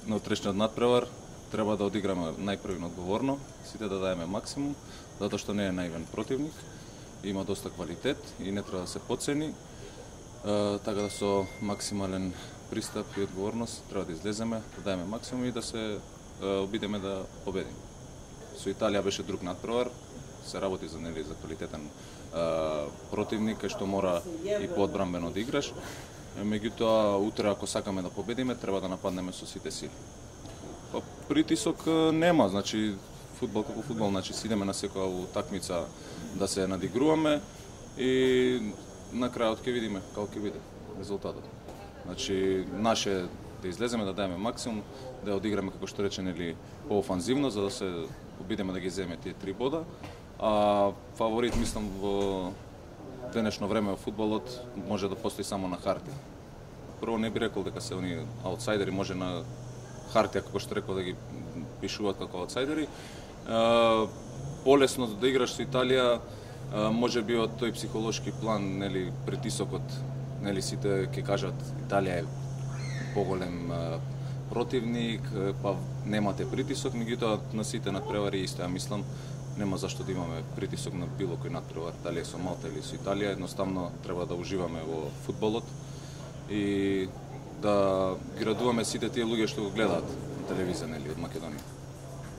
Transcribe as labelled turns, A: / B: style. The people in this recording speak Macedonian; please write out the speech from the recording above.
A: На утрешниот надпревар треба да одиграме најпрви одговорно, сите да даеме максимум, затоа што не е наивен противник, има доста квалитет и не треба да се потцени. Така да со максимален пристап и одговорност треба да излеземе, да даеме максимум и да се обидеме да победиме. Со Италија беше друг надпревар, се работи за квалитетен противник, кај што мора и поодбранбено да играш. Меѓутоа, утре ако сакаме да победиме, треба да нападнеме со сите сили. Притисок нема, значи фудбал како фудбал, значи идеме на секоја утакмица да се надигруваме и на крајот ќе видиме како ќе биде резултатот. Значи наше да излеземе, да даеме максимум, да одиграме како што речен или поофанзивно за да се обидеме да ги земеме тие 3 бода. А фаворит мислам во денешно време во фудбалот може да постои само на хартија. Прво не би рекол дека се они аутсайдери, може на хартија како што рекол да ги пишуваат како аутсайдери. Полесно да играш со Италија, може би од тој психолошки план, нели притисокот, нели сите ќе кажат Италија е поголем противник, па немате притисок, меѓутоа на сите надпревари исто ја мислам. Нема зашто да имаме притисок на било кој надпревар, дали е со Малта или со Италија, едноставно треба да уживаме во фудбалот и да ги радуваме сите тие луѓе што го гледаат на телевизија, нели, од Македонија.